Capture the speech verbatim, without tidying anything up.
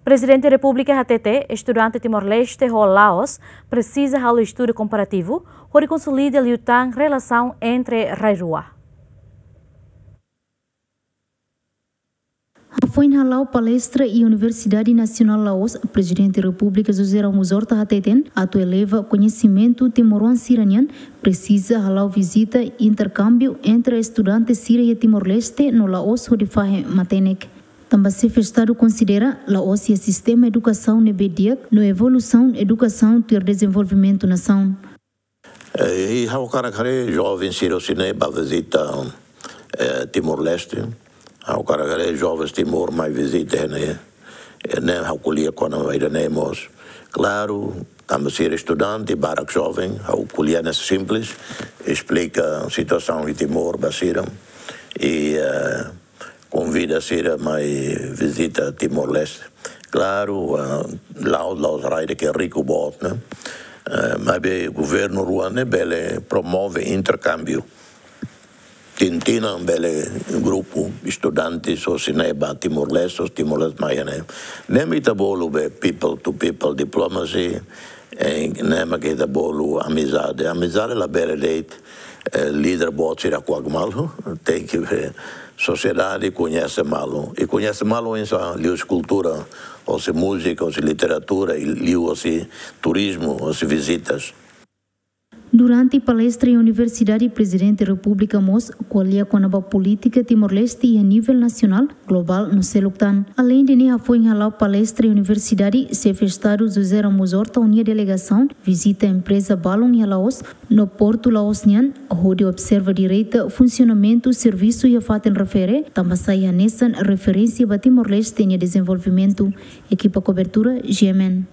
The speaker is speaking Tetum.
Prezidente Repúblika hatete, estudante Timor-Leste ho Laos presiza halo estudu komparativu hodi konsolida liután relasaun entre rai rua. Hafoin hala'o palestra iha Universidade Nasionál Laos, Prezidente Repúblika José Ramos Horta hateten, atu eleva koñesimentu timoroan sira-nian, presiza hala'o vizita interkámbiu entre estudante sira iha Timor-Leste no Laos hodi fahe matenek. Tanba Xefe Estadu konsidera Laos iha sistema edukasaun ne'ebé di'ak no evolusaun edukasaun tuir dezenvolvimentu nasaun. Eh, i ha'u hakarak haree joven sira hosi ne'e ba vizita, eh, Timor-Leste. Ha'u hakarak haree jovens Timor mai vizita ne'e. Eh, ne'e ha'u ko'alia kona-ba ida-ne'e mós. Klaru, tanba sira estudante, barak joven, ha'u ko'alia ne'e simples, esplika situasaun iha Timor ba sira. I, eh, konvida sira mai vizita Timor-Leste. Klaru, ah, Laos, Laos rai ida ke riku boot, ne'e? Eh, maibé governu rua ne'e bele promove interkámbiu. Tin tinan bele grupu estudante hosi ne'e ba Timor-Leste, hosi Timor-Leste mai ne'e. Ne'e mak ita bolu be people to people diplomacy, eh, ne'e mak ita bolu amizade. Amizade labele de'it, eh, líder boot sira kuak malu, tenke be sosiedade koñese malu. I koñese malu oinsá, liuhusi kultura, hosi múzika, hosi literatura, i liuhusi turizmu, hosi vizitas. Durante palestra iha Universidade, Prezidente Repúblika mós ko'alia kona-ba polítika Timor-Leste iha nivel nasionál, globál no seluk tan. Aleinde ne'e, hafoin hala'o palestra iha Universidade, Xefe Estadu José Ramos Horta ho nia delegasaun vizita empreza balun iha Laos no portu Laos nian, hodi observa direta funsionamentu servisu iha fatin refere, tanba sai hanesan referénsia ba Timor-Leste nia dezenvolvimentu. Ekipa kobertura, G M N.